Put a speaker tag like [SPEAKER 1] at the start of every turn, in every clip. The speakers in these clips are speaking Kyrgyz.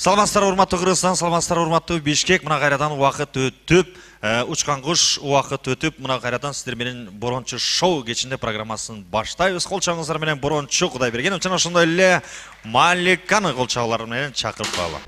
[SPEAKER 1] Саламатсыздар, урматтуу Кыргызстан, саламатсыздар, урматтуу Бишкек. Мына кайрадан убакыт өтүп, учкан куш убакыт өтүп, мына кайрадан сиздер менен Борончу шоу кечинде программасын баштайбыз. Кол чабыңыздар менен Борончу Кудайберген жана ошондой эле Маликаны кол чабуулар менен чакырып калалы.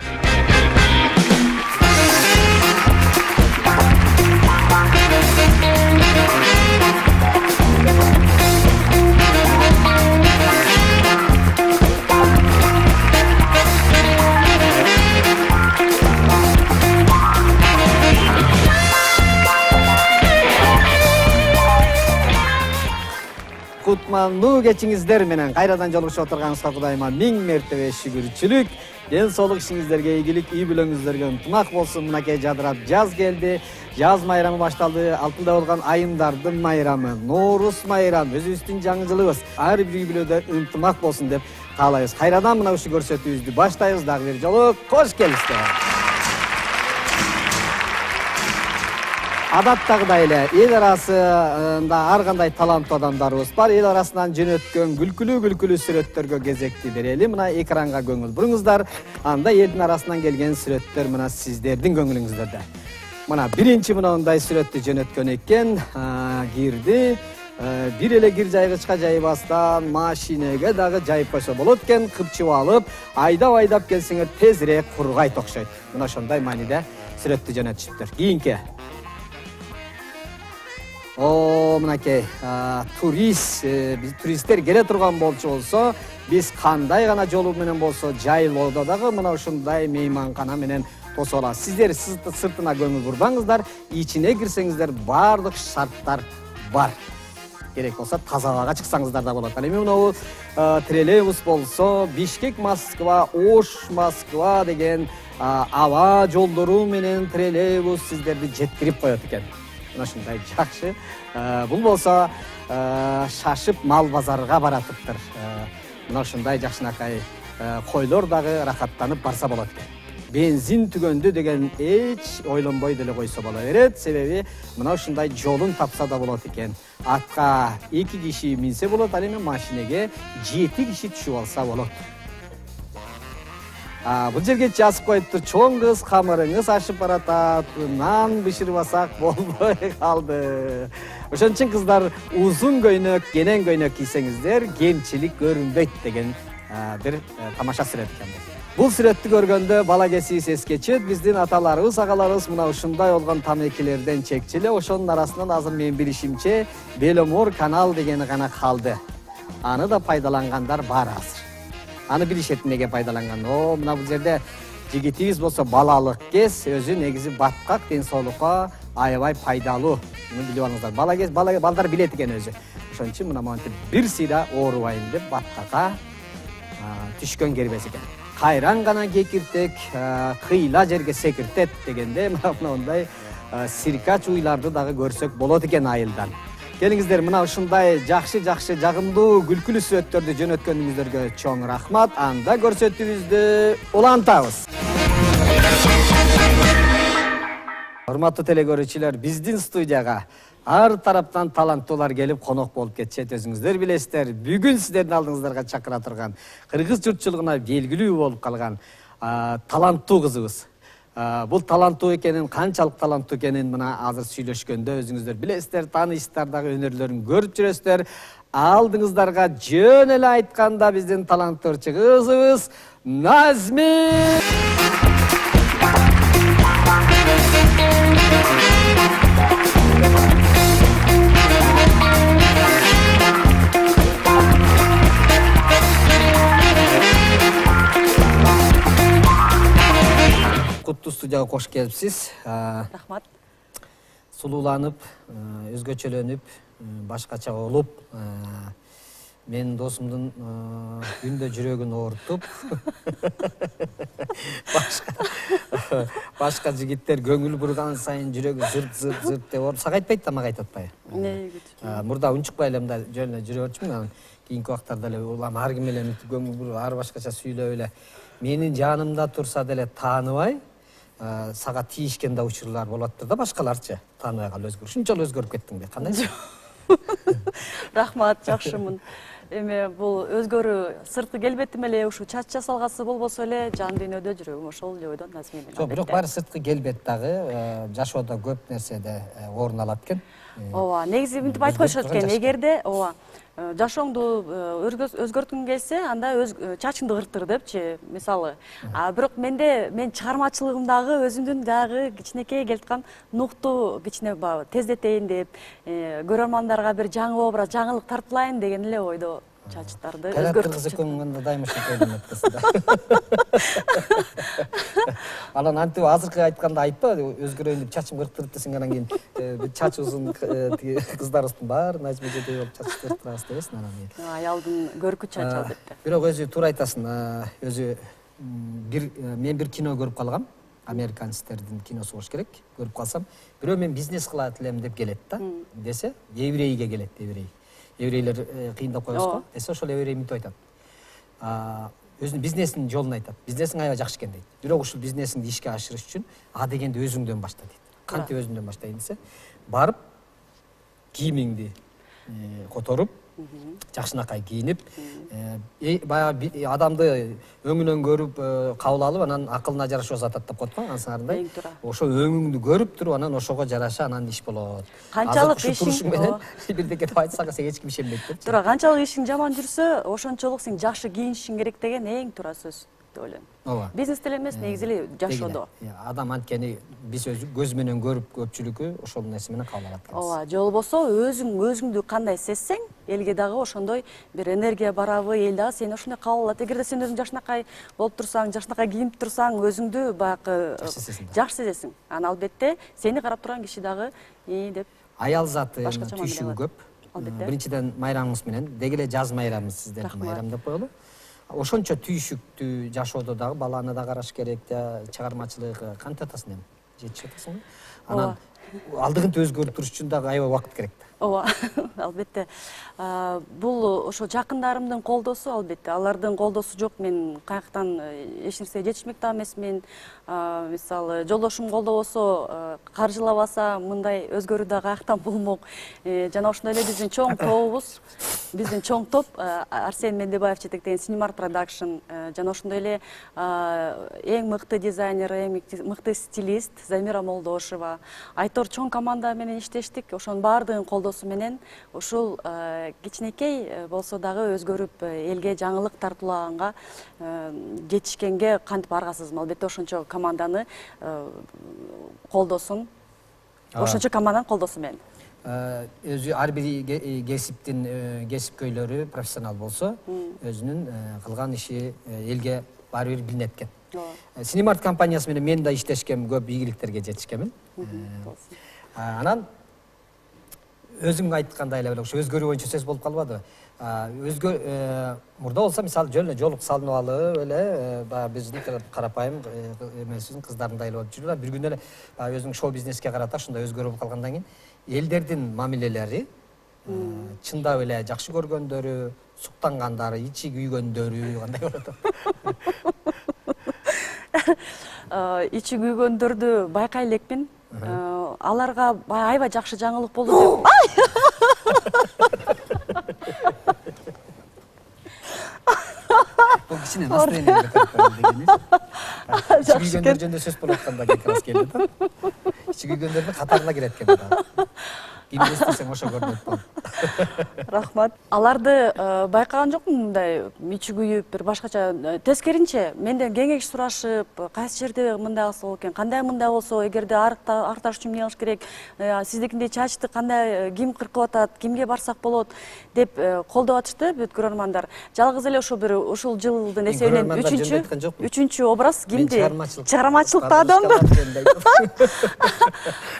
[SPEAKER 2] Кутмандуу кечиңиздер менен кайрадан жолугушуп отурганыңызга Кудайыма миң мертебе шүгүрчүлүк. Ден соолук ишиңиздерге ийгилик, үй бүлөңүздөргө ынтымак болсун. Мынакей жадырап жаз келди. Жаз майрамы башталды. Алтында болгон айымдардын майрамы, Нооруз майрамы, өзүбүздүн жаңы жылыбыз. Ар бир үй бүлөдө ынтымак болсун деп каалайбыз. Кайрадан мына ушул көрсөтүүбүздү баштайбыз. Дагы бир жолу кош келиңиздер. Адаттагыдай эле эл арасында ар кандай таланттуу адамдарыбыз бар. Эл арасынан жөнөткөн күлкүлүү сүрөттөргө кезекти берели. Мына экранга көңүл буруңуздар. Анда элдин арасынан келген сүрөттөр мына сиздердин көңүлүңүздөрдө. Мына биринчи мындай сүрөттү жөнөткөн экен. Кирди. Бир эле кир жайгычка жайбастан машинеге дагы жайып койсо болот экен. Кыпчып алып, айдап келсеңер тезирээк кургайт окшойт. Мына ошондой мааниде сүрөттү жөнөтүшүптүр. Кийинки мынакей туристтер келе турган болсо, биз кандай гана жолу менен болсо жайлоодо дагы мына ушундай мейманкана менен тосуп алабыз. Сиздер сыртына көңүл бурбаңыздар, ичине кирсеңиздер баардык шарттар бар. Керек болсо таза абага чыксаңыздар да болот. Ал эми мына троллейбус болсо, Бишкек Москва, Ош Москва деген аба жолдору менен троллейбус сиздерди жеткирип коет экен. Мына ушундай жакшы. Бул болсо шашып мал базарга баратыптыр. Мына ушундай жакшынакай койлор дагы рахаттанып барса болот экен. Бензин түгөндү деген эч ойлонбой деле койсо боло берет. Себеби мына ушундай жолун тапса да болот экен. Атка 2 киши минсе болот, ал эми машинеге 7 киши түшүп алса болот. Бул жерге жазып коюптур. Чоң кыз камырыңыз ашып баратат, нан бышырбасак болбой калды. Ошон үчүн кыздар узун көйнөк, кенен көйнөк кийсеңиздер кемчилик көрүнбөйт деген бир тамаша сүрөт экен бул. Бул сүрөттү көргөндө бала кезибиз эске түшөт. Биздин аталарыбыз, агаларыбыз мына ушундай болгон тамекелерден чекчиле. Ошонун арасынан азыр менин билишимче Беломор канал дегени гана калды. Аны да пайдалангандар бар азыр. Аны билишет неге пайдаланган. Мына бул жерде жигитибиз болсо балалык кез, өзү негизи баткак, ден соолукка аябай пайдалуу. Муну билип алыңыздар. Балдар билет экен өзү. Ошон үчүн мына монтип бир сыйра оорубайын деп баткакка түшкөн кербес экен. Кайран гана кекиртек кыйла жерге секиртет дегенде мындай сиркач уйларды дагы көрсөк болот экен айылдан. Келиңиздер, мына ушундай жакшы жагымдуу күлкүлүү сүрөттөрдү жөнөткөнүңүздөргө чоң рахмат. Анда көрсөтүүбүздү улантабыз. Урматтуу телекөрүүчүлөр, биздин студияга ар тараптан таланттуулар келип конок болуп кетишет. Өзүңүздөр билесиздер, бүгүн сиздердин алдыңыздарга чакыра турган, кыргыз журтчулугуна белгилүү болуп калган таланттуу кызыбыз. Бул таланттуу экенин, канчалык таланттуу экенин мына азыр сүйлөшкөндө өзүңүздөр билесиздер, таанышсыздар дагы, өнөрлөрүн көрүп жүрөсүздөр. Алдыңыздарга жөн эле айтканда биздин таланттуу кызыбыз Назми. Куттуу студияга кош келипсиз.
[SPEAKER 3] Рахмат.
[SPEAKER 2] Сулууланып, өзгөчөлөнүп, башкача болуп, менин досумдун күндө жүрөгүн оорутуп, башка жигиттер көңүл бурган сайын жүрөгү зырт деп ооруп, сага айтпайт да, мага айтып атпайбы? Мурда унчукпай эле мындай жөн эле жүрө берчүмүн, кийинки убактарда эле улам ар ким эле көңүл буруп, ар башкача сүйлөп эле менин жанымда турса деле тааныбай, сага тийишкен да учурлар болоттур да, башкаларчы тааныбай калып өзгөрүп. Ушунчалык өзгөрүп кеттиң бе? Кандай?
[SPEAKER 3] Рахмат, жакшымын. эме бул өзгөрүү сырткы келбетим эле ушу чач жасалгасы болбосо эле жан дүйнөдө жүрөгүм ошол эле ойдон Назмин менен.
[SPEAKER 2] Жок, бирок баары сырткы келбет дагы жашоодо көп нерседе орун алат экен.
[SPEAKER 3] Ооба, негизи мынтип айтып коюшат экен, эгерде ооба жашооңду өзгөрткүң келсе, анда чачыңды кырттыр депчи, мисалы. Бирок мен чыгармачылыгымдагы өзүмдүн дагы кичинекей келаткан нукту кичине тездетейин деп, көрөрмандарга бир жаңы образ, жаңылык тартуулайын деген эле ойдо чачтарды өзгөртүп.
[SPEAKER 2] Кыз экөөң дайыма ошентип эметпесиң да. Анан антип азыркы айтканда айтпа, өзгөрөйүн деп чачым кырктырып десең, анан кийин чачы узун кыздарыбыздын баары Назмежедей болуп чач кырктырабыз дебесиң анан кийин.
[SPEAKER 3] Аялдын көркү чачы албетте.
[SPEAKER 2] Бирок өзү туура айтасың. Өзү мен бир кино көрүп калгам. Американецтердин киносу болуш керек. Көрүп калсам, бирөө мен бизнес кылат элем деп келет да. Десе, еврейге келет, еврей. Еврейлер кыйындап коебуз го. Десе ошол еврей мынтип айтат. Өзүнүн бизнесинин жолун айтат. Бизнесиң аябай жакшы экен дейт. Бирок ушул бизнесиңди ишке ашырыш үчүн А дегенди өзүңдөн башта дейт. Кантип өзүмдөн баштайын десе, барып кийимиңди которуп, жакшынакай кийинип, баягы адамды өңүнөн көрүп кабыл алып, анан акылына жараша атат деп коет го, ансыңарындай. Ошо өңүңдү көрүп туруп, анан ошого жараша анан иш болот.
[SPEAKER 3] Канчалык
[SPEAKER 2] ишиң менен бирдеке деп айтсаң, сен эч ким ишенбейт деп.
[SPEAKER 3] Туура, канчалык ишиң жаман жүрсө, ошончолук сен жакшы кийинишиң керек деген эң туура сөз деп ойлойм.
[SPEAKER 2] Ооба.
[SPEAKER 3] Бизнесте эле эмес, негизи эле жашоодо.
[SPEAKER 2] Адам анткени биз көз менен көрүп көпчүлүкү ошол нерсе менен кабыл алат экенбиз.
[SPEAKER 3] Ооба, же болбосо өзүңдү кандай сезсең, элге дагы ошондой бир энергия барабы, эл дагы сени ошондой кабыл алат. Эгерде сен өзүң жакшынакай болуп турсаң, жакшынакай кийинип турсаң, өзүңдү баягы жакшы сезесиң. Анан албетте сени карап турган киши дагы деп
[SPEAKER 2] аял заты түйшүгү көп.
[SPEAKER 3] Албетте.
[SPEAKER 2] Биринчиден майрамыңыз менен, деги эле жаз майрамы сиздердин майрам деп коелу. Ошончо түйшүктүү жашоодо дагы баланы да караш керек, чыгармачылык кантип атасың эми? Жетишип атасыңбы? Анан алдыгынты өзгөрүп туруш үчүн дагы аябай убакыт керек.
[SPEAKER 3] Ооба, албетте. Бул ошо жакындарымдын колдоосу албетте. Алардын колдоосу жок, мен каяктан эч нерсеге жетишмек да эмесмин. Мисалы, жолдошум колдобосо, каржылабаса, мындай өзгөрүү да каяктан болмок. Жана ошондой эле биздин чоң тобубуз, биздин чоң топ Арсен Мендебаев жетектеген Cinemark Production, жана ошондой эле эң мыкты дизайнер, эң мыкты стилист Замира Молдошева, Айтор чоң команда менен иштештик. Ошонун баардыгын колдоосу менен ушул кичинекей болсо дагы өзгөрүп элге жаңылык тартуулаганга жетишкенге кантип аргасызмын. Албетте ошончо команданы колдосун, ошончо команданын колдоосу менен.
[SPEAKER 2] Өзү ар бир кесиптин кесипкөйлөрү профессионал болсо, өзүнүн кылган иши элге баары бир билинет экен. Cinemark компаниясы менен мен да иштешкем, көп ийгиликтерге жетишкенмин. Анан өзүң айткандай эле ошо өзгөрүү боюнча сөз болуп калбадыбы? Мурда болсо мисалы жөн эле жолук салынып алып эле баягы биздин карапайым эмесибиздин кыздарындай эле болуп жүрүп, бир күнү эле өзүң шоу бизнеске карата ошондой өзгөрүү болуп калгандан кийин элдердин мамилелери чындап эле жакшы көргөндөрү, суктангандары, ичи күйгөндөрү кандай болот?
[SPEAKER 3] Ичи күйгөндөрдү байкай элекмин. Аларга аябай жакшы жаңылык болду деп.
[SPEAKER 2] Бул кичине настроение дегени. Ичи күйгөндөр жөнүндө сөз болуп атканда как раз келди да. Ичи күйгөндөрдүн катарына кирет экен да. Кимди эстесең ошо көрүнөт болот.
[SPEAKER 3] Рахмат. Аларды байкаган жокмун мындай ичи күйүп, бир башкача. Тескеринче, менден кеңеш сурашып, кайсы жерде мындай кылса болот экен, кандай мындай болсо, эгерде арыкташ үчүн эмне кылыш керек, сиздикиндей чачты кандай ким кыркып атат, кимге барсак болот деп колдоп атышты бүт көрөрмандар. Жалгыз эле ошо бир ушул жылдын эсебинен үчүнчү образ кимди? Чыгармачылыкта адамды.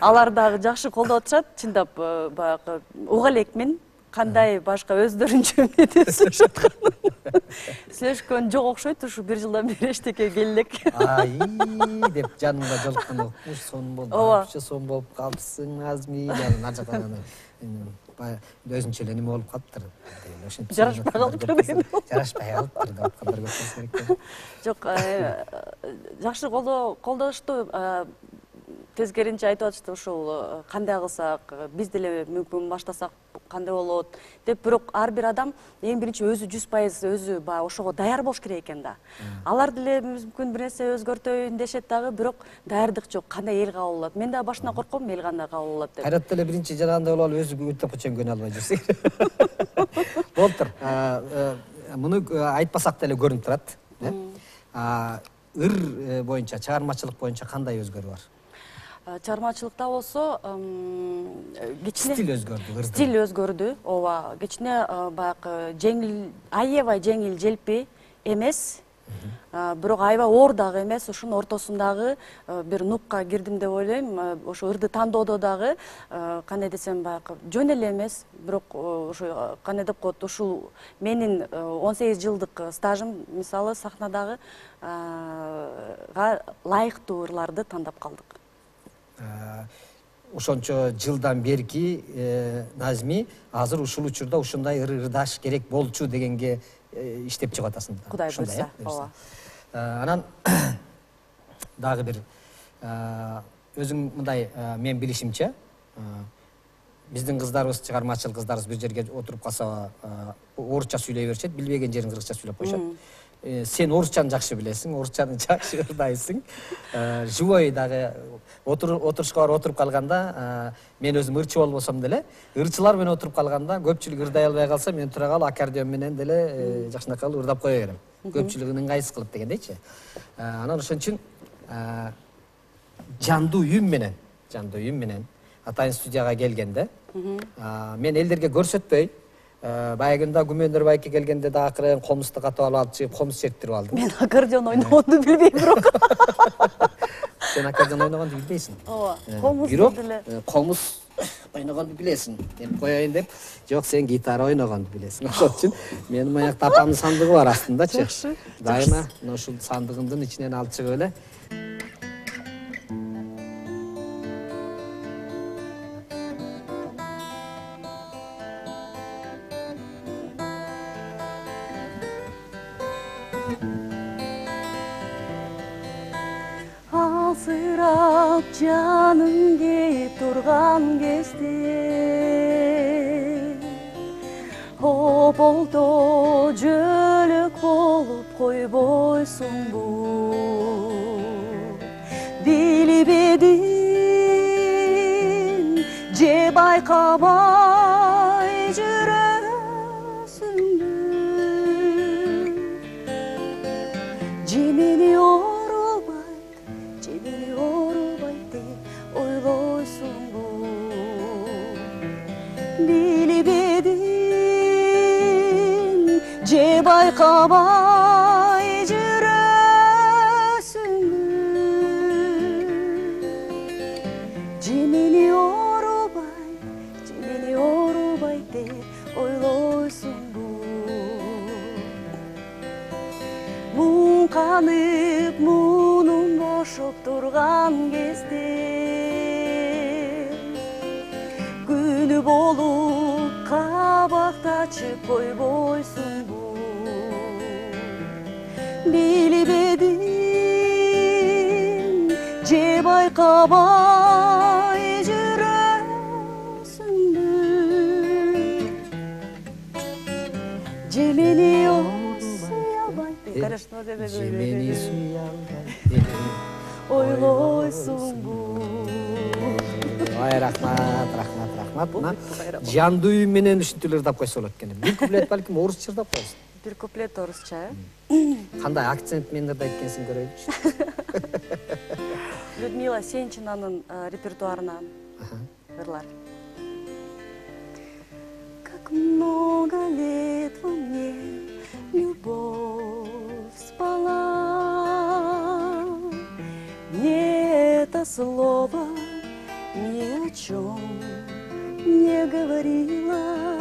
[SPEAKER 3] Алар дагы жакшы колдоп атышат, чындап баягы уга элекмин. Кандай башка өздөрүнчө эмне сүйлөшкөн жок окшойт, ушу бир жылдан бери эчтеке келелек.
[SPEAKER 2] Деп жанымда жолукканда ушул сон болуп калыпсың Назми, ар жактан өзүнчө эле неме болуп калыптыр.
[SPEAKER 3] Жарашпай калыптыр деген.
[SPEAKER 2] Жарашпай калыптыр деп аткандар көп керек.
[SPEAKER 3] Жок, жакшы колдошту. Тескеринче айтып атышты, ушул кандай кылсак, биз деле мүмкүн баштасак кандай болот деп, бирок ар бир адам эң биринчи өзү 100% өзү баягы ошого даяр болуш керек экен да. Алар деле мүмкүн бир нерсе өзгөртөйүн дешет дагы, бирок даярдык жок. Кандай эл кабыл алат? Мен дагы башында корком, эл кандай кабыл алат деп.
[SPEAKER 2] Кайрат деле биринчи жарагандай болуп алып өзү өтөп чейин көнө албай жүрсүң. Болуптур. Муну айтпасак деле көрүнүп турат. Ыр боюнча, чыгармачылык боюнча кандай өзгөрүү бар?
[SPEAKER 3] Чыгармачылыкта болсо кичине
[SPEAKER 2] стиль өзгөрдү.
[SPEAKER 3] Стиль өзгөрдү. Ооба, кичине баягы жеңил, аябай жеңил, желпи эмес. Бирок аябай оор дагы эмес, ушунун ортосундагы бир нукка кирдим деп ойлойм. Ошо ырды тандоодо дагы кандай десем, баягы жөн эле эмес, бирок ошо кандай деп коет, ушул менин 18 жылдык стажым мисалы сахнадагы ылайыктуу ырларды тандап калдык.
[SPEAKER 2] Ошончо жылдан берки Назми азыр ушул учурда ушундай ырдаш керек болчу дегенге иштеп чыгып атасың.
[SPEAKER 3] Кудай буйрса, ооба.
[SPEAKER 2] Анан дагы бир өзүң мындай мен билишимче биздин кыздарыбыз, чыгармачыл кыздарыбыз бир жерге отуруп калса орусча сүйлөй беришет, билбеген жерин кыргызча сүйлөп коюшат. Сен орусчаны жакшы билесиң, орусчаны жакшы ырдайсың. Живой дагы отурушка барып отуруп калганда, мен өзүм ырчы болбосом деле, ырчылар менен отуруп калганда көпчүлүк ырдай албай калса, мен тура калып аккордеон менен деле жакшынакай ырдап кое берем. Көпчүлүгүн ыңгайсыз кылып дегендейчи. Анан ошон үчүн жандуу үн менен атайын студияга келгенде, мен элдерге көрсөтпөй, баягы күндө Күмөндөр байке келгенде да акырын комузду катып алып чыгып комуз чертирип алдым.
[SPEAKER 3] Мен аккордеон ойногонду билбейм бирок.
[SPEAKER 2] Сен аккордеон ойногонду билбейсиң.
[SPEAKER 3] Ооба, комуз деле.
[SPEAKER 2] Комуз ойногонду билесиң деп коеюн деп. Жок, сен гитара ойногонду билесиң. Ошон үчүн менин маякта апамдын сандыгы бар астындачы.
[SPEAKER 3] Жакшы.
[SPEAKER 2] Дайыма ушул сандыгымдын ичинен алып чыгып эле.
[SPEAKER 3] Алсырап жаным кейип турган кезде, ополто жөлөк болуп койбойсуңбу? Билбедим же байкабай жүрөсүңбү? Же мени орубайт деп ойлойсуңбу? Билбедим же байкабай жүрөсүңбү? Же мени орубайт деп ойлойсуңбу? Муңканып мунум бошоп турган кезде, күнү болуп кабактачып койбойсуңбу? Билбедим же байкабай жүрөсүңбү? Же мени ойлойсуңбу?
[SPEAKER 2] Ай, рахмат. Жандуу үн менен ушинтип ырдап койсо болот экен. Бир куплет балким орусча ырдап коесуң.
[SPEAKER 3] Бир куплет орусча,
[SPEAKER 2] Кандай акцент менен ырдайт экенсиң көрөйүнчү.
[SPEAKER 3] Людмила Сенчинанын репертуарынан ырлар. Как много лет во мне любовь спала, мне это слово ни о чем не говорила.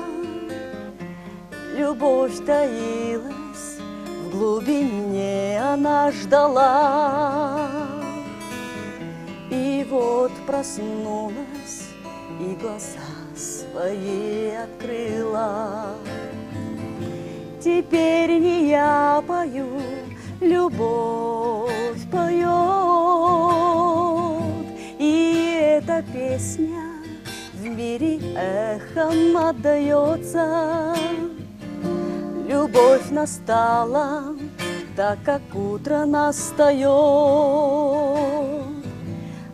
[SPEAKER 3] Любовь таилась в глубине, она ждала. И вот проснулась и глаза свои открыла. Теперь не я пою, любовь поет, и эта песня в мире двери эхом отдается. Любовь настала, так как утро настает.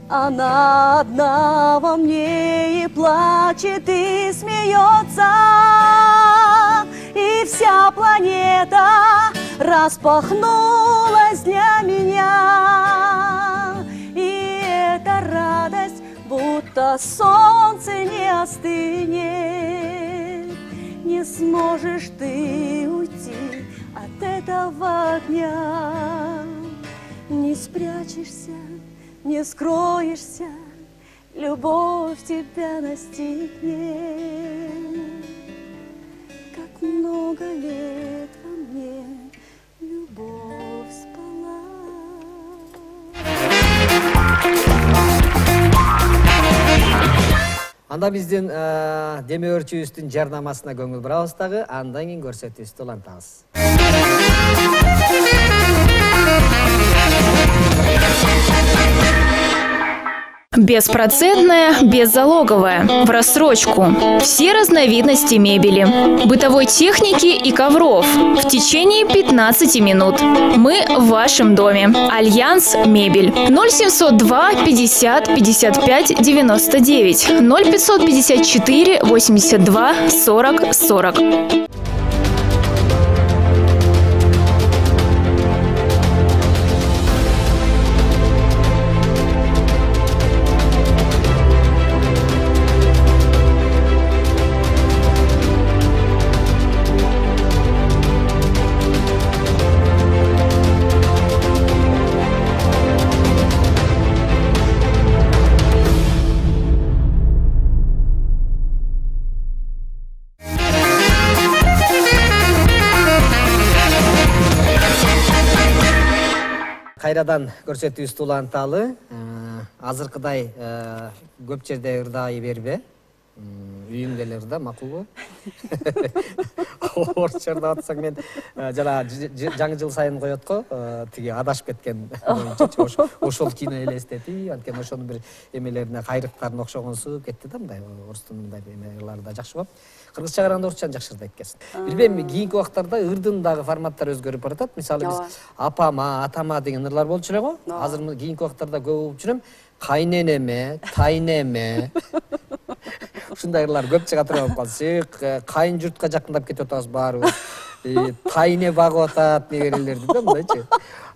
[SPEAKER 3] Она одна во мне и плачет, и смеется, и вся планета распахнулась для меня. И эта радость, будто солнце не остынет. Не сможешь ты уйти от этого огня. Не спрячешься, не скроешься, любовь тебя настигнет. Как много лет во мне любовь спала.
[SPEAKER 2] Анда биздин деме өрчүүбүздүн жарнамасына көңүл бурабыз дагы, андан кийин көрсөтүүбүздү улантабыз.
[SPEAKER 4] Беспроцентная, беззалоговая, в рассрочку. Все разновидности мебели, бытовой техники и ковров в течение 15 минут. Мы в вашем доме. Альянс Мебель. 0702 50 55 99 0554 82 40 40.
[SPEAKER 2] Кайрадан көрсөтүүбүздү уланталы. Азыркыдай көп жерде ырдаай бербе. Үйүңдө эле ырда, макулбу? Орусча ырдап атсаң, мен жана жаңы жыл сайын коет го, тиги адашып кеткен боюнча ошол кино элестети, анткени ошонун бир эмелерине кайрыктарын окшогонсу кетти да, мындай орустун мындай эмелери да жакшы болот. Кыргызча караганда орусчаны жакшы ырдайт экенсиң. Билбейм, кийинки убактарда ырдын дагы форматтары өзгөрүп баратат. Мисалы биз апама, атама деген ырлар болчу эле го. Азыр кийинки убактарда көп угуп жүрөм. Кайненеме, тайнеме. Ушундай ырлар көп чыга турган болуп калды. Кайын журтка жакындап кетип атабыз баарыбыз. Тайне багып атат негерелерди да мындайчы.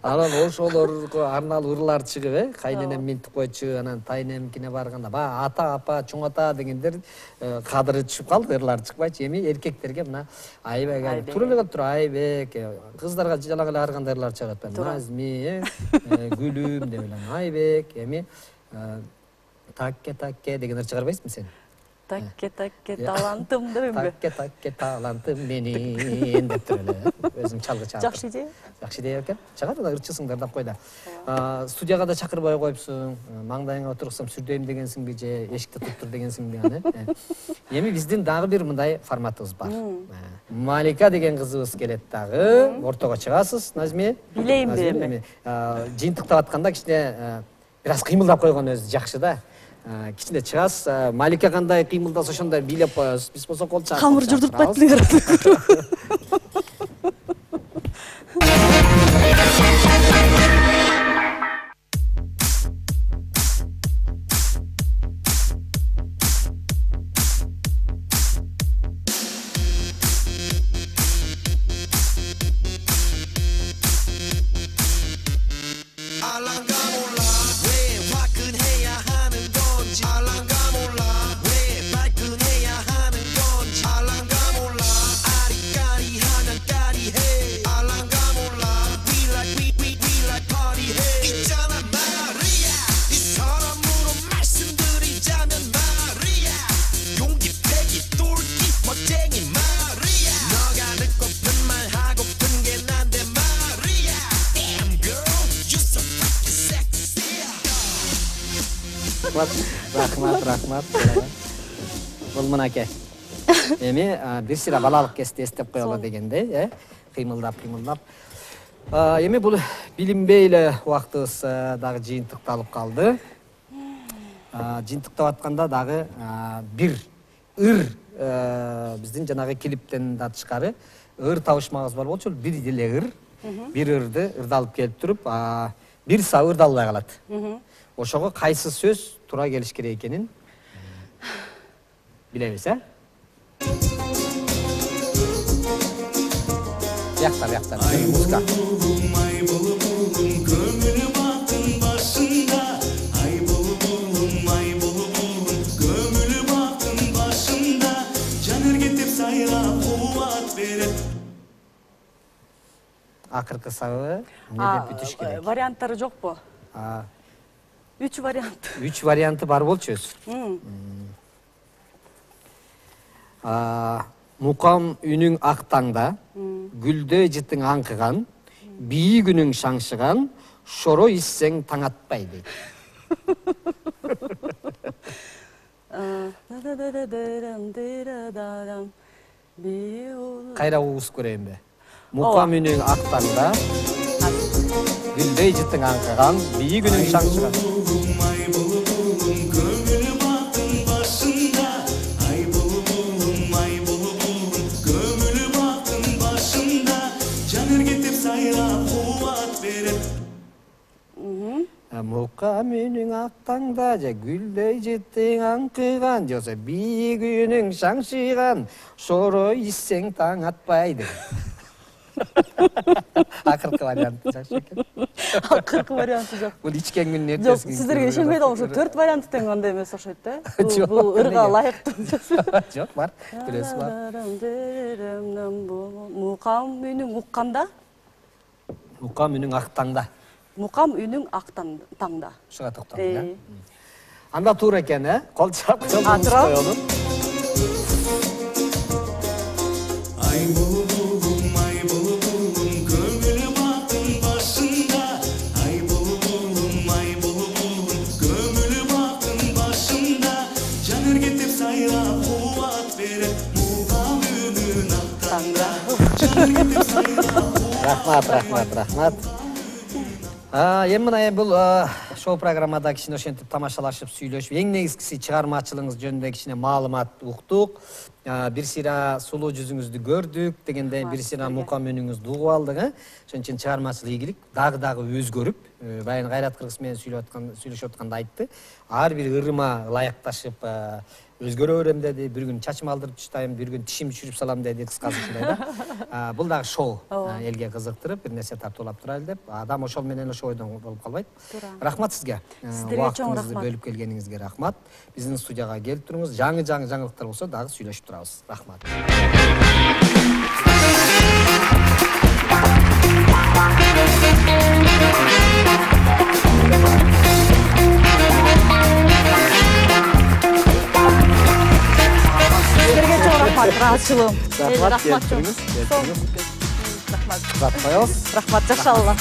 [SPEAKER 2] Анан ошолорго арналуу ырлар чыгып, кайненем минтип койчу, анан тайнемкине барганда, ата, апа, чоң ата дегендер кадыры түшүп калды, ырлар чыкпайчы. Эми эркектерге мына Айбек, тура эле тура Айбек, кыздарга жалак эле ар кандай ырлар чыгат. Назми, гүлүм деп эле Айбек, эми такке деген ыр чыгарбайсызбы сен?
[SPEAKER 3] Такке талантым дейбизби?
[SPEAKER 2] Такке талантым менин деп тур эле. Өзүм чалгы чалып.
[SPEAKER 3] Жакшы идея.
[SPEAKER 2] Жакшы идея экен. Чыгат да ырчысыңдар деп кой да. Студияга да чакырбай койупсуң. Маңдайыңа отурсам сүрдөйм дегенсиңби же эшикти туттур дегенсиңби аны? Эми биздин дагы бир мындай форматыбыз бар. Малика деген кызыбыз келет дагы. Ортого чыгасыз, Назми.
[SPEAKER 3] Билейм эми.
[SPEAKER 2] Жыйынтыктап атканда кичине бир аз кыймылдап койгон өзү жакшы да. Кичине чыгасыз, Малика кандай кыймылдаса ошондой бийлеп коесуз. Биз болсо кол чаап.
[SPEAKER 4] Камыр журдуртпайт эле.
[SPEAKER 2] Рахмат. Бул мынакей. Эми бир сыйра балалык кезде эстеп коелу дегендей, кыймылдап. Эми бул билинбей эле убактыбыз дагы жыйынтыкталып калды. Жыйынтыктап атканда дагы бир ыр биздин жанагы клиптен да тышкары ыр табышмагыбыз бар болчу, бир деле ыр, бир ырды ырдалып келип туруп, бир сабы ырдалбай калат. Ошого кайсы сөз туура келиш керек экенин билебиз, Бияктар, музыка. Акыркы сабы эмнеден бүтүш керек?
[SPEAKER 3] Варианттары жокпу? 3 вариант.
[SPEAKER 2] 3 варианты бар болчу өзү. Мукам үнүң ак таңда, гүлдөй жытың аңкыган, бийи күнүң шаңшыган, шоро иссең таң атпай дейт. Кайра угуп көрөйүнбү? Мукам үнүң ак таңда, гүлдөй жытың аңкыган, бийи күнүң шаңшыган. Мукам үнүң ак таңда, гүлдөй жытың аңкыган, же болбосо бийи күнүң шаңшыган, шоро иссең таң атпай дейт. Акыркы варианты жакшы экен.
[SPEAKER 3] Акыркы варианты жок.
[SPEAKER 2] Бул ичкен күнүн
[SPEAKER 3] Жок,
[SPEAKER 2] эртеси.
[SPEAKER 3] сиздерге ишенбей атам, ошо 4 варианты тең андай эмес окшойт да. Бул ырга ылайыктуу.
[SPEAKER 2] Жок, бар. Бирөөсү бар.
[SPEAKER 3] Мукам үнүң укканда,
[SPEAKER 2] Мукам үнүң ак таңда.
[SPEAKER 3] мукам үнүң ак таңда.
[SPEAKER 2] Ушуга токтолдум, Анда туура экен, Кол чап,
[SPEAKER 3] тура.
[SPEAKER 2] коелу. Рахмат. Эми мына бул шоу программада кичине ошентип тамашалашып, сүйлөшүп, эң негизгиси чыгармачылыгыңыз жөнүндө кичине маалымат уктук. Бир сыйра сулуу жүзүңүздү көрдүк дегенден бир сыйра мукам үнүңүздү угуп алдык, Ошон үчүн чыгармачылык ийгилик дагы өзгөрүп, байын Кайрат Кыргыз менен сүйлөшүп атканда айтты. Ар бир ырыма ылайыкташып өзгөрө берем деди. Бир күн чачым алдырып таштайм, бир күн тишим түшүрүп салам деди, кыскасы ушундай да. Бул дагы шоу. Элге кызыктырып, бир нерсе тартуулап турайлы деп. Адам ошол менен ошо ойдон болуп калбайт. Рахмат сизге.
[SPEAKER 3] Сиздерге чоң рахмат.
[SPEAKER 2] Бөлүп келгениңизге рахмат. Биздин студияга келип туруңуз. Жаңы жаңылыктар болсо дагы сүйлөшүп турабыз. Рахмат.
[SPEAKER 3] Сиздерге чоң рахмат, ыраазычылыгым.
[SPEAKER 2] Рахмат,
[SPEAKER 3] Рахмат. Рахмат, жакшалыгы.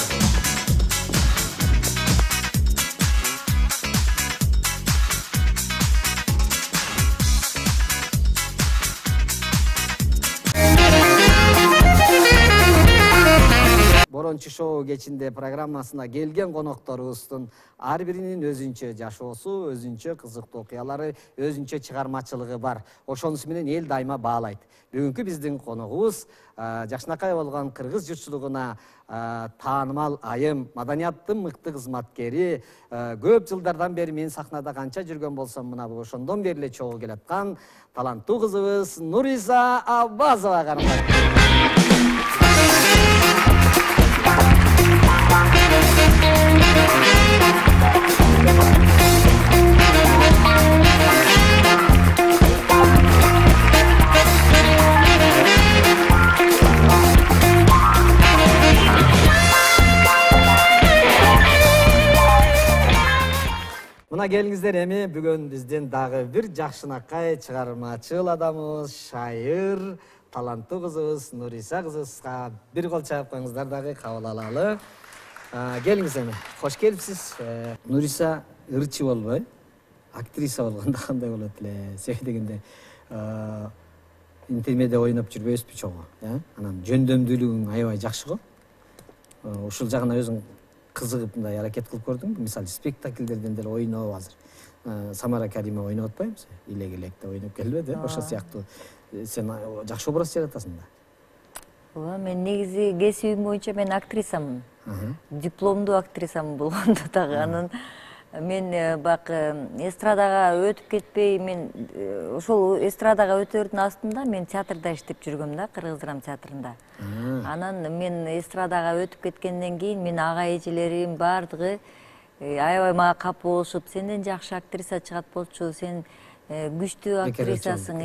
[SPEAKER 2] Борончу шоу кечинде программасына келген конокторубуздун ар биринин өзүнчө жашоосу, өзүнчө кызыктуу окуялары, өзүнчө чыгармачылыгы бар. Ошонусу менен эл дайыма баалайт. Бүгүнкү биздин коногубуз жакшынакай болгон кыргыз журтчулугуна таанымал айым, маданияттын мыкты кызматкери, көп жылдардан бери мен сахнада канча жүргөн болсом, мына бул ошондон бери эле чогуу келаткан таланттуу кызыбыз Нуриса Аббасова кармак. Мына келиңиздер, эми бүгүн биздин дагы бир жакшынакай чыгармачыл адамыбыз, шайыр, таланттуу кызыбыз Нуриса кызыбызга бир кол чаап коюңуздар дагы, кабыл алалы. Келиңиз эми. Кош келипсиз. Нуриса ырчы болбой, актриса болгондо кандай болот эле? Себеби дегенде интермеде ойноп жүрбөйсүзбү чогуу, Анан жөндөмдүүлүгүң аябай жакшы го. Ушул жагына өзүң кызыгып мындай аракет кылып көрдүңбү? Мисалы спектакльдерден деле ойноп азыр. Самара Каримова ойноп атпайбы? Илек электе ойноп келбеди, ошо сыяктуу сен жакшы образ жаратасың да.
[SPEAKER 5] Ооба, мен негизи кесибим боюнча мен актрисамын. Дипломдуу актрисамын болгондо дагы. Анан мен бак эстрадага өтүп кетпей, мен ошол эстрадага өтөрдүн астында мен театрда иштеп жүргөм да, Кыргыз драма театрында. Анан мен эстрадага өтүп кеткенден кийин мен ага эжелерим бардыгы аябай мага кап болушуп, сенден жакшы актриса чыгат болчу, сен күчтүү актрисасың,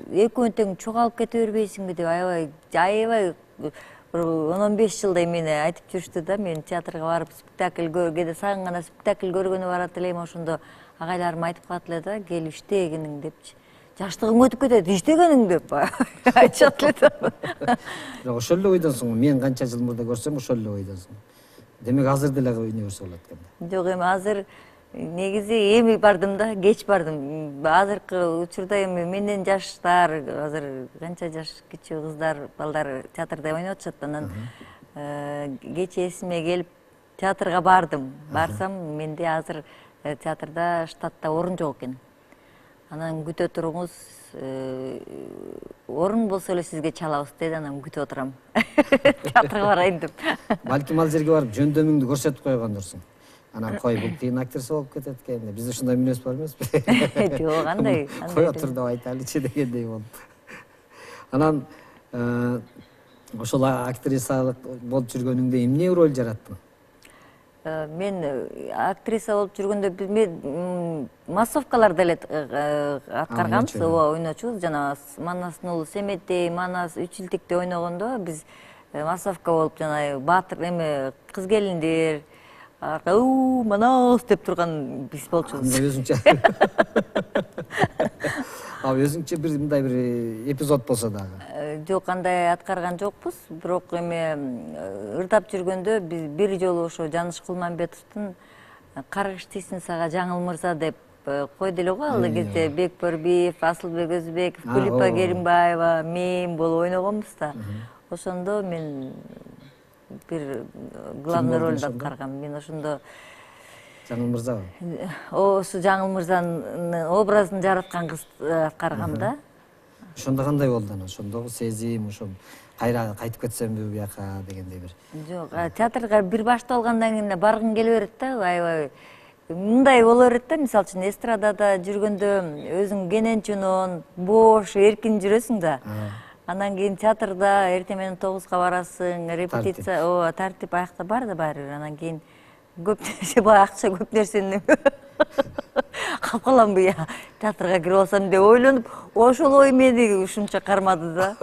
[SPEAKER 5] экөөң тең чогалып кете бербейсиңби деп аябай 10-15 жылдай мени айтып жүрүштү да. Мен театрга барып спектакль көргөндө сагын гана спектакль көргөнү барат элем, ошондо агайларым айтып калат эле да, келип иштегениң депчи. Жаштыгың өтүп кетет, иштегениң деп айтышат эле да.
[SPEAKER 2] Ошол эле ойдонсуң, мен канча жыл мурда көрсөм ошол эле ойдонсуң. Демек азыр деле ойной берсе болот экен да.
[SPEAKER 5] Жок, эми азыр негизи эми бардым да, кеч бардым. Азыркы учурда эми менден жаштар, азыр канча жаш кичүү кыздар, балдар театрда ойноп атышат. Анан кеч эсиме келип театрга бардым. Барсам менде азыр театрда штатта орун жок экен. Анан күтө туруңуз, орун болсо эле сизге чалабыз деди, анан күтүп отурам. Театрга барайын деп.
[SPEAKER 2] Балким ал жерге барып жөндөмүңдү көрсөтүп койгондурсуң. Анан кой, бул кийин актриса болуп кетет экен. Бизде ушундай мүнөз бар эмеспи?
[SPEAKER 5] Жок, кандай?
[SPEAKER 2] Кой отур деп айтайлычы дегендей болуп. Анан ошол актрисалык болуп жүргөнүңдө эмне роль жараттың?
[SPEAKER 5] Мен актриса болуп жүргөндө мен массовкаларда эле аткарганбыз, ооба, ойночубуз. Жана Манастын уулу Семеттей, Манас Үчилтикте ойногондо биз массовка болуп жана баатыр эме кыз келиндер Манас деп турган биз болчубуз.
[SPEAKER 2] Өзүңчө. Өзүңчө бир мындай бир эпизод болсо дагы.
[SPEAKER 5] Жок, андай аткарган жокпуз, бирок эме ырдап жүргөндө биз бир жолу ошо Жаныш Кулманбетовдун Каргыш тийсин сага Жаңыл мырза деп койду эле го ал кезде. Бекбөрбиев, Асылбек Өзбеков, Кулипа Керимбаева, мен болуп ойногонбуз да. Ошондо мен бир главный ролду аткаргам. Мен ошондо
[SPEAKER 2] Жаңыл мырзабы?
[SPEAKER 5] Ошо Жаңыл мырзанын образын жараткан кыз аткаргам да.
[SPEAKER 2] Ошондо кандай болду анан? Ошондогу сезим, ошо кайра кайтып кетсемби буяка дегендей бир.
[SPEAKER 5] Жок, театрга бир башталгандан кийин баргың келе берет да, аябай мындай боло берет да. Мисалы үчүн эстрадада жүргөндө өзүң кененчүнөн бош, эркин жүрөсүң да. Андан кийин театрда эртең менен 9-га барасың, репетиция, ооба, тартип аякта бар да баары бир. Анан кийин көп нерсе, бай акча көп нерсени калп каламбы я театрга кирип алсам деп ойлонуп, ошол ой мени ушунча кармады да.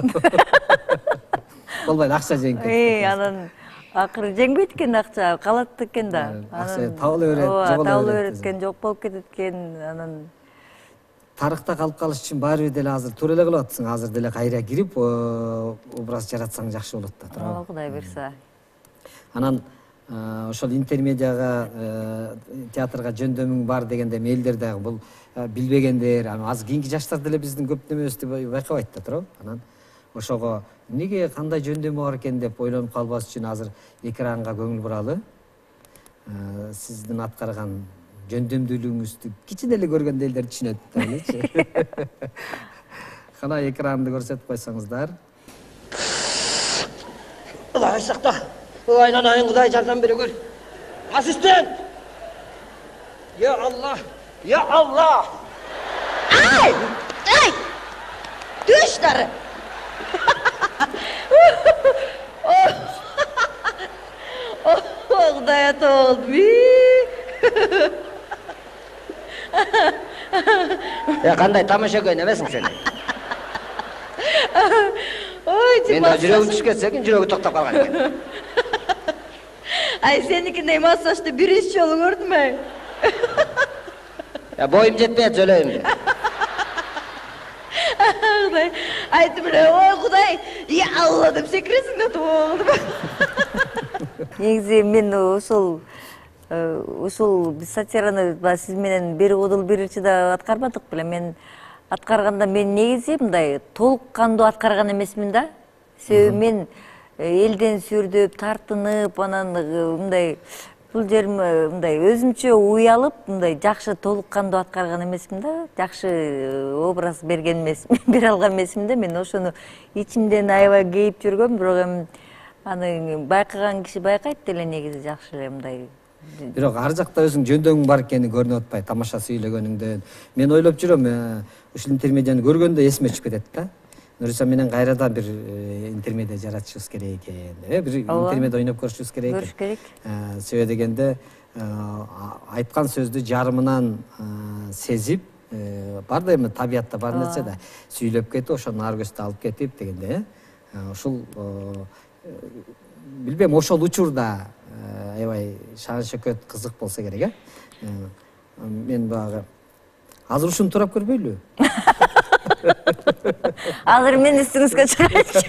[SPEAKER 2] Болбойт, акча жеңип кетти.
[SPEAKER 5] Анан акыры жеңбейт экен акча, калат экен да.
[SPEAKER 2] Акча табыла берет,
[SPEAKER 5] жоголо табыла берет экен, жок болуп кетет экен. Анан
[SPEAKER 2] тарыхта калып калыш үчүн баары бир деле азыр туура эле кылып атсың. Азыр деле кайра кирип, образ жаратсаң жакшы болот да, туурабы?
[SPEAKER 5] Кудай буйрса.
[SPEAKER 2] Анан ошол интермедиага театрга жөндөмүң бар дегенде элдер дагы бул билбегендер, азыр кийинки жаштар деле биздин көп немебизди байкабайт да, туурабы? Анан ошого эмнеге кандай жөндөмү бар экен деп ойлонуп калбас үчүн азыр экранга көңүл буралы. Сиздин аткарган жөндөмдүүлүгүңүздү кичине эле көргөндө элдер түшүнөт да элечи. Кана экранды көрсөтүп койсоңуздар.
[SPEAKER 6] Кудай сакта. Aylanayın, Kuday jardan beri gör. Asistan! Ya Allah! Ya Allah!
[SPEAKER 7] Ay! Ay! Düşler!
[SPEAKER 5] Kuday ata oldu.
[SPEAKER 6] Ya kanday tamasha köynemesin seni.
[SPEAKER 5] Oy,
[SPEAKER 6] Men de жүрөгүм түшүп кетсе экен, жүрөгү токтоп калган экен.
[SPEAKER 5] Ay senikindey massajda birinci yolu gördün mü?
[SPEAKER 6] Ya boyum жетпейт söyleyeyim.
[SPEAKER 5] Kuday, aytım bile, oy Kuday, ya Allah deyip sekiresin de oğlum. Негизи мен ушул сатираны сиз менен бир удул биринчи да аткарбадык беле. Мен аткарганда мен негизи мындай толук кандуу аткарган эмесмин да. Себеби мен элден сүрдөп, тартынып, анан мындай бул жерим мындай өзүмчө уялып, мындай жакшы толук кандуу аткарган эмесмин да, жакшы образ берген эмесмин, бере алган эмесмин да. Мен ошону ичимден аябай кейип жүргөм, бирок эми аны байкаган киши байкайт деле негизи жакшы эле мындай.
[SPEAKER 2] Бирок ар жакта өзүң жөндөң бар экени көрүнүп атпайбы, тамаша сүйлөгөнүңдөн. Мен ойлоп жүрөм, ушул интермедияны көргөндө эсиме түшүп кетет да. Нуриса менен кайрадан бир интермедия жаратышыбыз керек экен. Бир интермедия ойноп көрүшүбүз керек экен.
[SPEAKER 5] Көрүш керек.
[SPEAKER 2] Себеби дегенде айткан сөздү жарымынан сезип, бар да эми табиятта бар нерсе да, сүйлөп кетип, ошону ар көздө алып кетип дегенде, ушул билбейм, ошол учурда аябай шаан шөкөт кызык болсо керек, Мен багы азыр ушуну турап көрбөйлү?
[SPEAKER 5] Азыр мен үстүңүзгө чыгайынчы.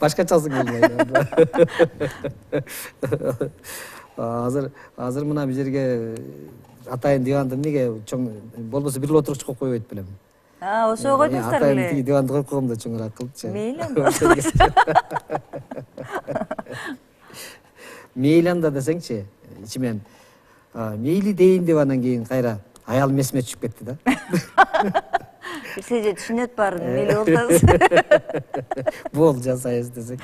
[SPEAKER 2] Башкачасы келбейт. Азыр мына бул жерге атайын диванды эмнеге чоң болбосо бир эле отургуч коюп койбойт белем.
[SPEAKER 5] Ошого койдуңуздар беле.
[SPEAKER 2] Атайын диванды коюп койгондо чоңураак кылчы. Мейли анда десеңчи, ичимен мейли дейин деп анан кийин кайра аялым эсиме түшүп кетти да.
[SPEAKER 5] Сиз түшүнөт баарын мейли болсоңуз.
[SPEAKER 2] Бол жасайбыз десек.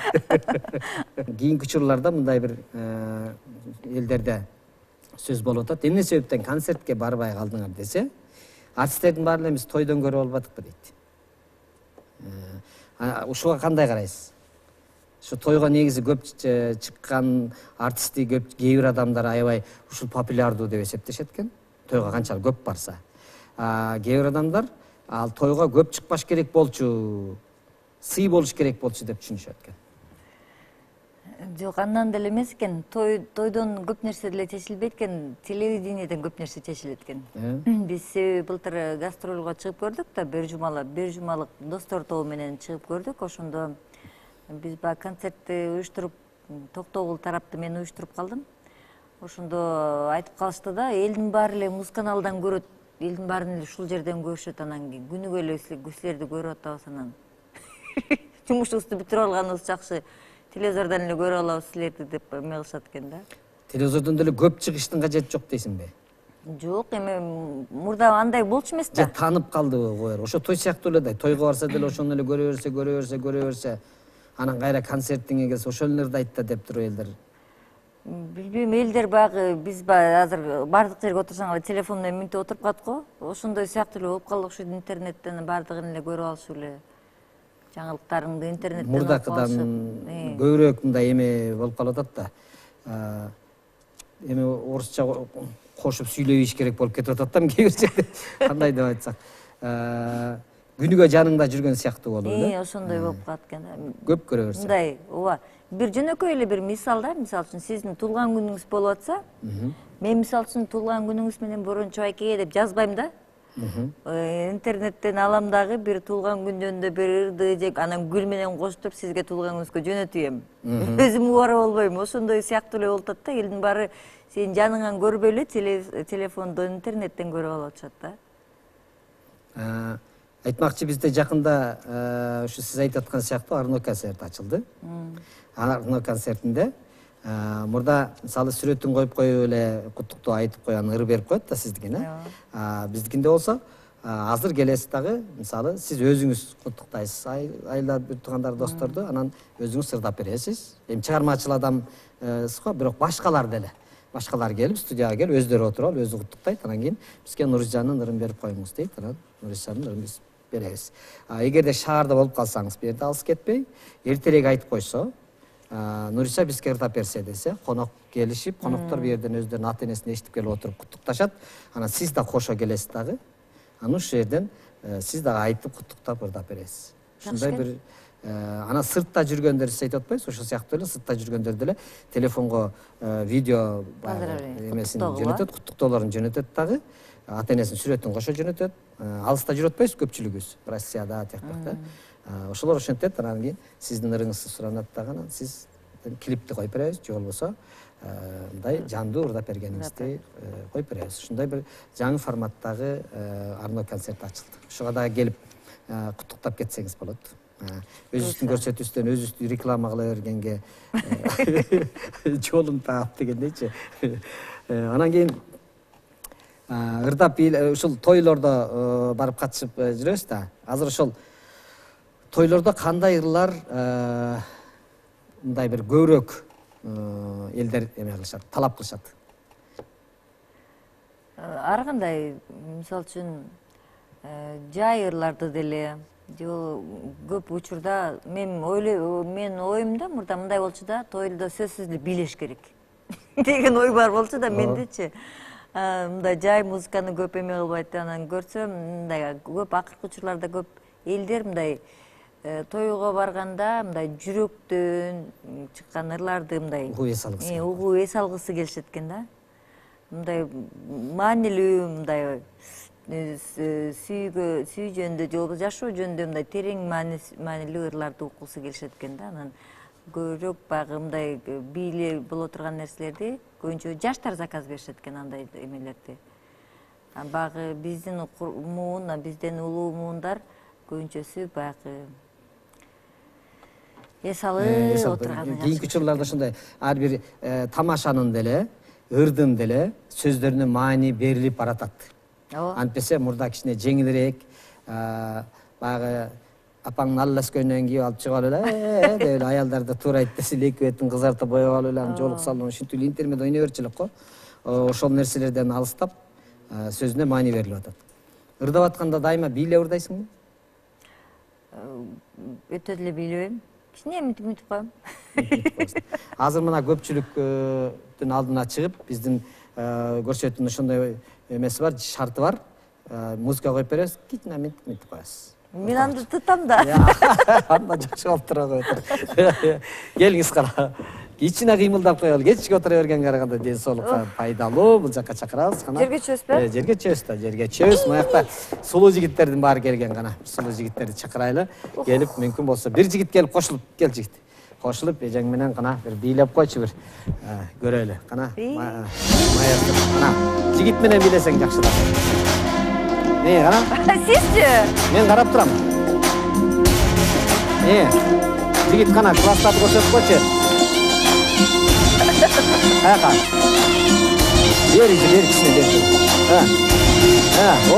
[SPEAKER 2] Кийинки учурларда мындай бир элдерде сөз болуп атат. Эмне себептен концертке барбай калдыңар десе, артисттердин баары эле биз тойдон көрүп албадыкпы дейт. Ушуга кандай карайсыз? Şu toyga негизи көп чыккан артисти көп кээ бир адамдар аябай ушул популярдуу деп эсептешет экен. Тойга канчалык көп барса. Кээ бир адамдар ал тойга көп чыкпаш керек болчу, сый болуш керек болчу деп түшүнүшөт экен.
[SPEAKER 5] Жок, андан деле эмес экен. Тойдон көп нерсе деле чечилбейт экен, телевидениеден көп нерсе чечилет экен. Биз былтыр гастролго чыгып көрдүк да, бир жумалык достор тобу менен чыгып көрдүк. Ошондо биз баягы концертти уюштуруп, Токтогул тарапты мен уюштуруп калдым. Ошондо айтып калышты да, элдин баары эле музыканалдан көрөт, элдин баарын эле ушул жерден көрүшөт, анан кийин күнүгө эле силерди көрүп атабыз, анан жумушубузду бүтүрүп алганыбыз жакшы, телевизордон эле көрүп алабыз силерди деп эме кылышат экен да.
[SPEAKER 2] Телевизордон деле көп чыгыштын кажети жок дейсиңби?
[SPEAKER 5] Жок, эми мурда андай болчу эмес да.
[SPEAKER 2] Же таанып калдыбы койор? Ошо той сыяктуу эле да, тойго барса деле ошону эле көрө берсе, анан кайра концертиңе келсе ошол нерди айт да деп туруп элдер.
[SPEAKER 5] Билбейм, элдер баягы биз азыр бардык жерге отурсаң телефон менен мүнтүп отуруп калат го. Ошондой сыяктуу эле болуп калды, ошо интернеттен бардыгын эле көрүп алышып эле. Жаңылыктарыңды интернеттен
[SPEAKER 2] мурдакыдан көбүрөөк мындай эме болуп калып атат да. Эми орусча кошуп сүйлөбөйүш керек болуп кетип атат да, кээ бир жерде. Кандай деп айтсак, күнүгө жаныңда жүргөн сыяктуу болуп эле.
[SPEAKER 5] Ошондой болуп калат экен.
[SPEAKER 2] Көп көрө берсе.
[SPEAKER 5] Мындай, ооба. Бир жөнөкөй эле бир мисал да, мисалы үчүн сиздин туулган күнүңүз болуп атса, мен мисалы үчүн туулган күнүңүз менен Борончу Айкеге деп жазбайм да. Интернеттен алам дагы бир туулган күн жөнүндө бир ырды же анан гүл менен коштуруп сизге туулган күнүңүзгө жөнөтөйм. Өзүм убара болбойм. Ошондой сыяктуу эле болуп атат да, элдин баары сенин жаныңан көрбөй эле телефондон интернеттен көрүп алып атышат да.
[SPEAKER 2] Айтмакчы, бизде жакында ушу сиз айтып аткан сыяктуу Арно концерт ачылды. Арно концертинде мурда мисалы сүрөтүн коюп эле куттуктоо айтып коюп аны ыр берип коет да сиздикине. Биздикинде болсо азыр келесиз дагы, мисалы сиз өзүңүз куттуктайсыз айла туугандар досторду, анан өзүңүз ырдап бересиз. Эми чыгармачыл адамсыз го, бирок башкалар деле. Башкалар келип студияга келип өздөрү отуруп алып өзү куттуктайт, анан кийин бизге Нуризжандын ырын берип коюңуз дейт, анан Нуризжандын ырын биз беребиз. Эгерде шаарда болуп калсаңыз, бу жерде алыс кетпей, эртерээк айтып койсо, Нуриса бизге ырдап берсе десе, конок келишип, коноктор бу жерден өздөрүнүн ата энесин эшитип келип отуруп куттукташат. Анан сиз да кошо келесиз дагы. Анан ушул жерден сиз дагы айтып куттуктап ырдап бересиз. Ушундай бир анан сыртта жүргөндөр сиз айтып атпайсызбы? Ошол сыяктуу эле сыртта жүргөндөр деле телефонго видео эмесин жөнөтөт, куттуктоолорун жөнөтөт дагы. Ата энесинин сүрөтүн кошо жөнөтөт. Алыста жүрүп атпайсызбы көпчүлүгүбүз? Россияда тияктак да. Ошолор ошентет, анан кийин сиздин ырыңызды суранат дагы, анан сиз клипти коюп беребиз, же болбосо мындай жандуу ырдап бергениңизди коюп беребиз. Ушундай бир жаңы форматтагы Арно концерт ачылды. Ошого дагы келип куттуктап кетсеңиз болот. өзүбүздүн көрсөтүүбүздөн өзүбүздү реклама кыла бергенге жолун таап дегендейчи. Анан кийин ырдап ушул тойлордо барып катышып жүрөбүз да. Азыр ошол тойлордо кандай ырлар мындай бир көбүрөөк элдер эме кылышат, талап кылышат?
[SPEAKER 5] Ар кандай, мисалы үчүн жай ырларды деле, көп учурда менин оюмда мурда мындай болчу да, тойлдо сөзсүз эле бийлеш керек деген ой бар болчу да мендечи. Мындай жай музыканы көп эме кылбайт, анан көрсөм мындай көп акыркы учурларда көп элдер мындай тойго барганда мындай жүрөктөн чыккан ырларды мындай угуп эс алгысы келишет экен да. Мындай маанилүү, мындай сүй жөнүндө же болбосо жашоо жөнүндө мындай терең маанилүү ырларды уккусу келишет экен да. Анан көбүрөөк баягы мындай бийле боло турган нерселерди көбүнчө жаштар заказ беришет экен, андай эмелерди. Баягы биздин муун, бизден улуу муундар көбүнчөсү баягы эс алып отурган.
[SPEAKER 2] Кийинки учурларда ошондой ар бир тамашанын деле, ырдын деле сөздөрүнө маани берилип баратат. Антпесе мурда кичине жеңилирээк, баягы апаңдын алласкөйнөн кийип алып чыгып алып эле деп эле аялдарды туура айтпесе эле эки бетин кызартып боеп алып эле анан жолук салып ушинтип эле интернет ойной берчү элек го. Ошол нерселерден алыстап сөзүнө маани берилип атат. Ырдап атканда дайыма бийлеп ырдайсыңбы?
[SPEAKER 5] Өтө деле бийлебейм. Кичине мынтип коем.
[SPEAKER 2] Азыр мына көпчүлүктүн алдына чыгып, биздин көрсөтүүнүн ошондой эмеси бар, шарты бар. Музыка коюп беребиз, кичине мынтип коесуз.
[SPEAKER 5] Мен аны тутам да.
[SPEAKER 2] Анда жакшы болуп тура коет. Келиңиз кара. Кичине кыймылдап коелу. Кечке отура бергенге караганда ден соолукка пайдалуу. Бул жакка чакырабыз.
[SPEAKER 5] Жерге чөбүзбү?
[SPEAKER 2] Жерге чөбүз да, жерге чөбүз. Мынакта сулуу жигиттердин баары келген гана. Сулуу жигиттерди чакырайлы. Келип, мүмкүн болсо бир жигит келип кошулуп, кел жигит. Кошулуп, эжең менен гана бир бийлеп койчу бир. Көрөлү. Кана. Кана. Жигит менен бийлесең жакшыраак. Кана?
[SPEAKER 5] Сизчи?
[SPEAKER 2] Мен карап турам. Жигит кана класстарды көрсөтүп койчу. Каяка? Бер кичине бер. О!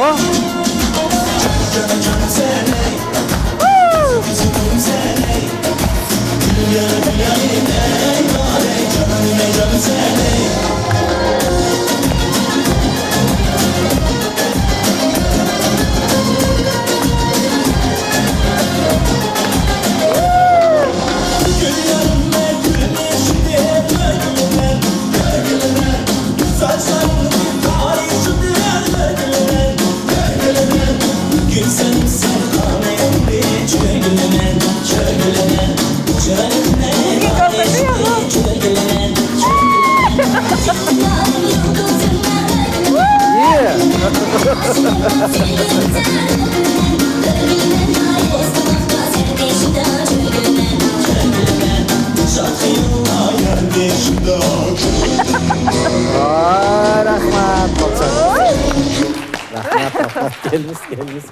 [SPEAKER 2] Келиңиз.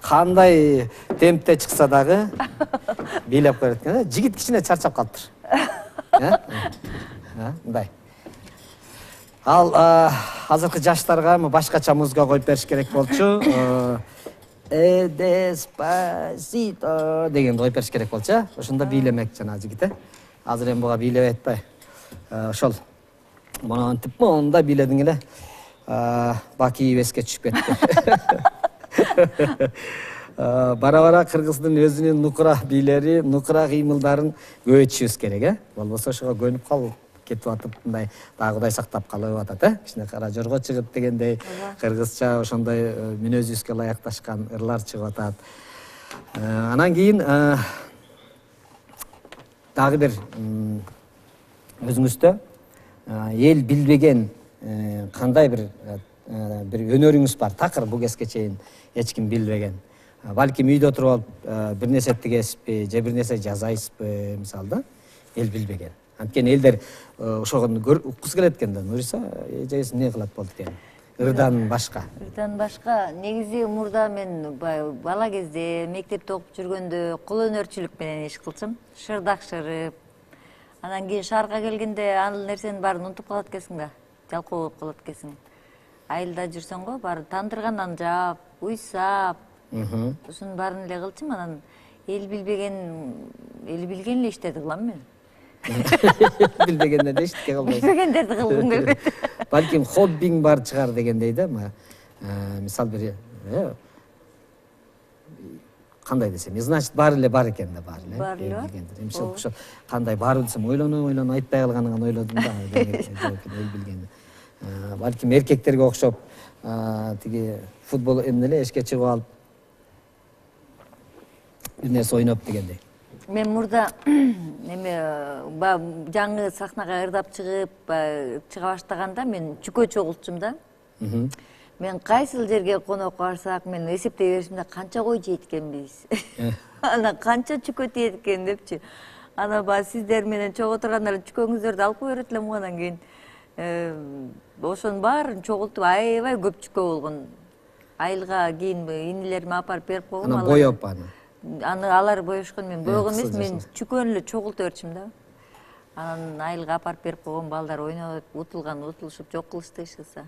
[SPEAKER 2] Кандай темпте чыкса дагы бийлеп коет экен. Жигит кичине чарчап калыптыр. Мындай. Ал азыркы жаштарга башкача музыка коюп бериш керек болчу. Деспасито деген коюп бериш керек болчу. Ошондо бийлемек жана жигит. Азыр эми буга бийлеп атпай. Ошол монтип монда бийледиң эле. Баки эске түшүп кетти. Бара-бара кыргыздын өзүнүн нукура бийлери, нукура кыймылдарын көбөйтүшүбүз керек, Болбосо ошого көнүп калып кетип атып, мындай дагы Кудай сактап калып атат, Кичине кара жорго чыгып дегендей, кыргызча ошондой мүнөзүбүзгө ылайыкташкан ырлар чыгып атат. Анан кийин дагы бир өзүңүздө эл билбеген кандай бир өнөрүңүз бар, такыр бул кезге чейин эч ким билбеген. Балким үйдө туруп алып бир нерсе тигесизби, же бир нерсе жасайсызбы, мисалы, эл билбеген. Анткени элдер ошого уккусу келет экен да, Нуриса эжеси эмне кылат болду деген. ырдан башка.
[SPEAKER 5] Ырдан башка негизи мурда мен бала кезде мектепте окуп жүргөндө кол өнөрчүлүк менен иш кылчумун. Шырдак шырып. Анан кийин шаарга келгенде ал нерсенин баарын унутуп калат экенсиң да. Жалкоо болуп калат экенсиң. Айылда жүрсөң го баары тандыргандан жаап, уйсап. Ушунун баарын эле кылчумун. Анан эл билген эле иштерди кылам мен.
[SPEAKER 2] Билбегендерди эчтеке кылбайсың.
[SPEAKER 5] Билбегендерди кылгым келбейт.
[SPEAKER 2] Балким хоббиң бар чыгар дегендей да. Мисал бир кандай десем, значит баары эле бар экен да, баары эле.
[SPEAKER 5] Бар эле.
[SPEAKER 2] Эмче ошо кандай баары десем, ойлоно айтпай калганын ойлодум да. Эл билген. Балким эркектерге окшоп тиги футбол эмне эле эшке чыгып алып бир нерсе ойноп дегендей.
[SPEAKER 5] Мен мурда жаңы сахнага ырдап чыга баштаганда мен чүкө чогултчум да. Мен кайсыл жерге конокко барсак, мен эсептей беришим да канча кой жейт экенбиз. Анан канча чүкө тиет экен депчи. Анан сиздер менен чогуу тургандар чүкөңүздөрдү алып кой берет элем анан кийин ошонун баарын чогултуп аябай көп чүкө болгон. Айылга кийин инилериме апарып берип койгом.
[SPEAKER 2] Анан боеп
[SPEAKER 5] Аны алар боешкон, мен боегон эмес, мен чүкөнү эле чогултуп берчим да. Анан айылга апарып берип койгом, балдар ойноп, утулушуп жок кылышты эч кылса.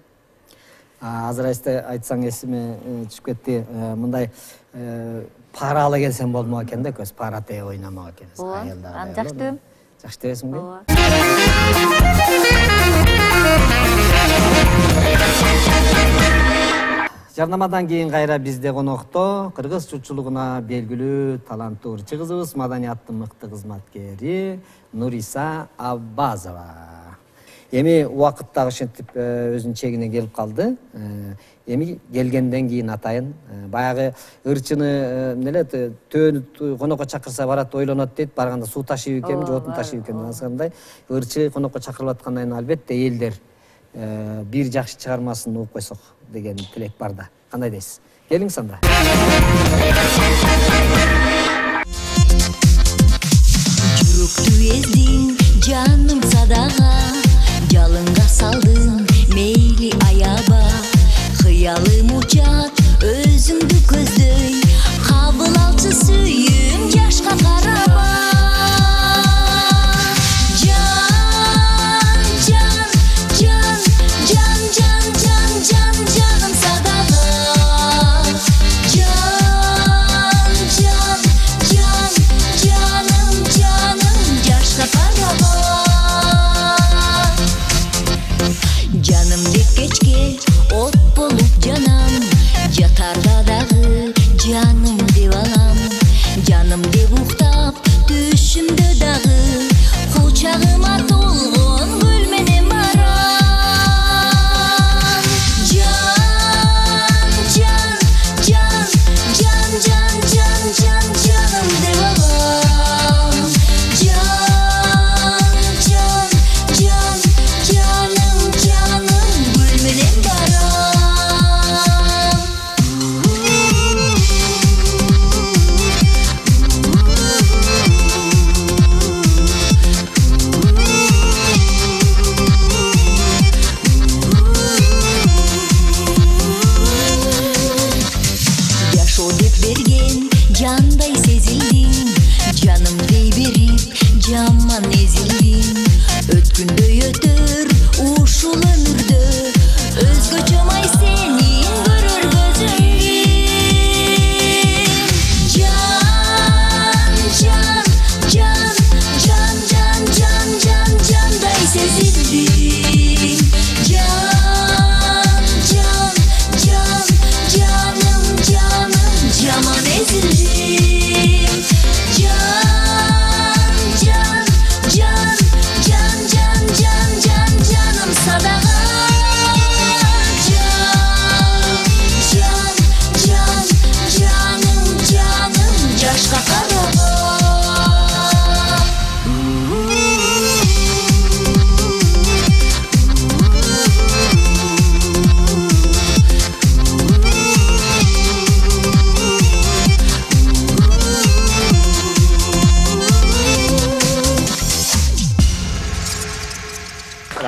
[SPEAKER 2] Азыр айтсаң эсиме түшүп кетти. Мындай пара ала келсем болмок экен да, көз пара тээ ойномок экенбиз.
[SPEAKER 5] Ооба, аны жакшы дебем.
[SPEAKER 2] Жакшы дебесиңби?
[SPEAKER 5] Ооба.
[SPEAKER 2] Жарнамадан кийин кайра бизде конокто кыргыз чурчулугуна белгилүү таланттуу ырчы кызыбыз, маданияттын мыкты кызматкери Нуриса Аббазова. Эми убакыт дагы ошентип өзүнүн чегине келип калды. Эми келгенден кийин атайын баягы ырчыны эмнеле төөнү конокко чакырса барат, ойлонот дейт, барганда суу ташыйбы экен, же отун ташыйбы экен дегендей. Ырчы конокко чакырылып аткандан кийин албетте элдер бир жакшы чыгармасын угуп койсок деген тилек бар да. Кандай дейсиз? Келиңиз анда.
[SPEAKER 8] Жүрөктү эздиң, жаным садага, жалынга салдың, мейли аяба. Кыялым учат, өзүңдү көздөй, кабыл алчы сүйүм, жашка караба. Жаным садага, жан,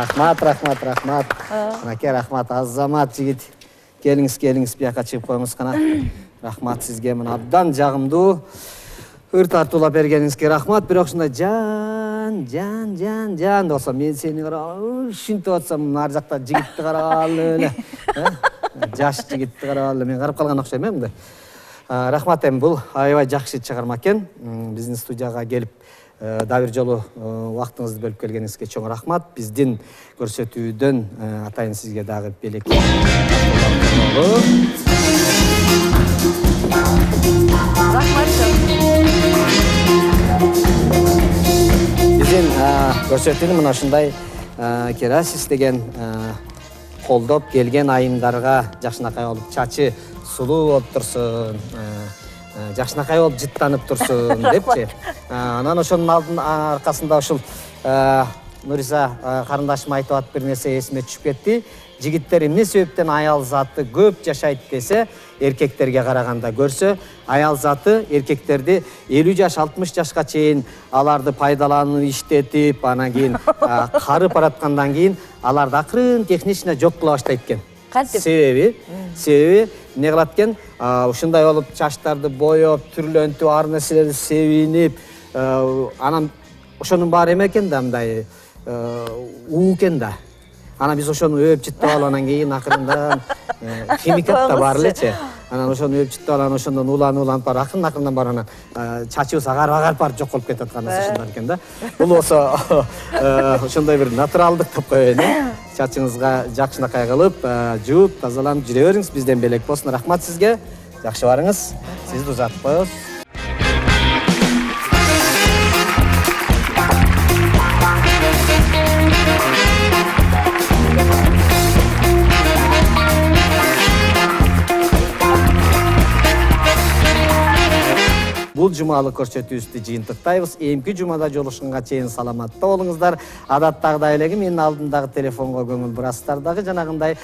[SPEAKER 2] Рахмат. Мынакей рахмат, азамат жигит. Келиңиз, бияка чыгып коюңуз кана. Рахмат сизге, мына абдан жагымдуу ыр тартуулап бергениңизге рахмат. Бирок ушундай жан деп атсам, мен сени карап ушинтип атсам, ар жакта жигитти карагалы эле. Жаш жигитти карагалы, мен карап калган окшойм мындай. Рахмат, эми бул аябай жакшы чыгарма экен. Биздин студияга келип дагы бир жолу убактыңызды бөлүп келгениңизге чоң рахмат. Биздин көрсөтүүдөн атайын сизге дагы белек. Биздин көрсөтүүнү мына ушундай Керасис деген колдоп келген айымдарга жакшынакай болуп чачы сулуу болуп турсун, жакшынакай болуп жыттанып турсун депчи. Анан ошонун алдын аркасында ушул Нуриса карындашым айтып атып бир нерсе эсиме түшүп кетти. Жигиттер эмне себептен аял заты көп жашайт десе, эркектерге караганда көрсө, аял заты эркектерди 50 жаш, 60 жашка чейин аларды пайдаланып, иштетип, анан кийин карып бараткандан кийин аларды акырын технично жок кыла баштайт экен. Себеби эмне кылат экен? Ушундай болуп чачтарды боёп, түрлөнтүп, ар нерселерди себинип, анан ошонун баары эме экен да, мындай уу экен да. Анан биз ошону өп жыттап алып, анан кийин акырындан химикат да бар элечи. Анан ошону өп жыттап алып, ошондон уланып бар, акырындан бар, анан чачыбыз агарып барып жок болуп кетет ушундай экен да. Бул болсо ошондой бир натуралдык деп коеюн. Чачыңызга жакшынакай кылып, жууп, тазаланып жүрө бериңиз. Бизден белек болсун. Рахмат сизге. Жакшы барыңыз. Сизди узатып коебуз. Бул жумалык көрсөтүүбүздү жыйынтыктайбыз. Эмки жумада жолугушканга чейин саламатта болуңуздар. Адаттагыдай эле менин алдымдагы телефонго көңүл бурасыздар дагы жанагындай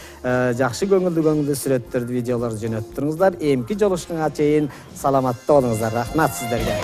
[SPEAKER 2] жакшы көңүлдүү сүрөттөрдү, видеолорду жөнөтүп туруңуздар. Эмки жолугушканга чейин саламатта болуңуздар. Рахмат сиздерге.